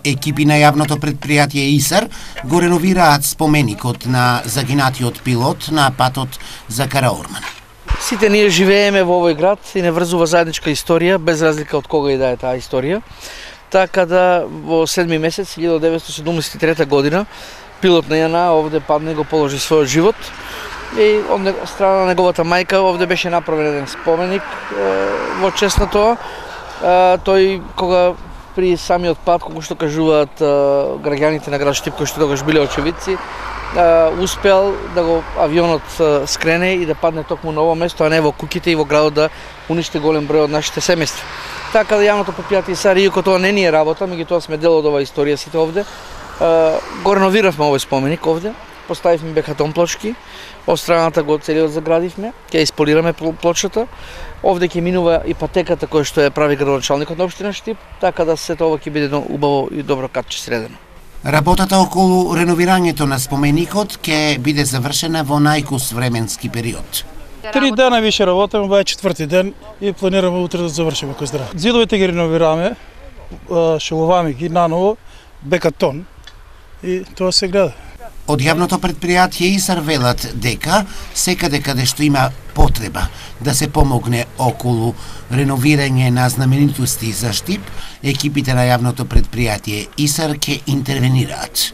Екипи на јавното предпријатие ИСАР го реновираат споменикот на загинатиот пилот на патот за Караорман. Сите ние живееме во овој град и не врзува заедничка историја, без разлика од кога и да е таа историја. Така да во 7 месец 1973 година пилот на ЈНА овде падна и го положи својот живот. И од страна на неговата мајка овде беше направен еден споменик во чест на тоа. Тој кога при самиот пат, кога што кажуваат граѓаните на град Штип, кои што тогаш биле очевидци, успел да го авионот скрене и да падне токму на ово место, а не во куќите и во градот да уништи голем број од нашите семејства. Така да јавното предпријатие ИСАР, иако тоа не ни е работа, меѓутоа сме дел од оваа историја сите овде, го реновиравме овој споменик овде, поставивме бекатон плочки, од страната го целиот заградивме, ќе исполираме плочата. Овде ќе минува и патеката која што ја прави градоначалникот на општина Штип, така да сето ова ќе биде убаво и добро катче средено. Работата околу реновирањето на споменикот ќе биде завршена во најкус временски период. 3 дена више работиме, ова е 4ти ден и планираме утре да завршиме кој здраво. Зидовите ги реновираме, шоловаме ги наново, бекатон и тоа се гледа. Од јавното предпријатие ИСАР велат дека секаде каде што има потреба да се помогне околу реновирање на знаменитости за Штип, екипите на јавното предпријатие ИСАР ќе интервенираат.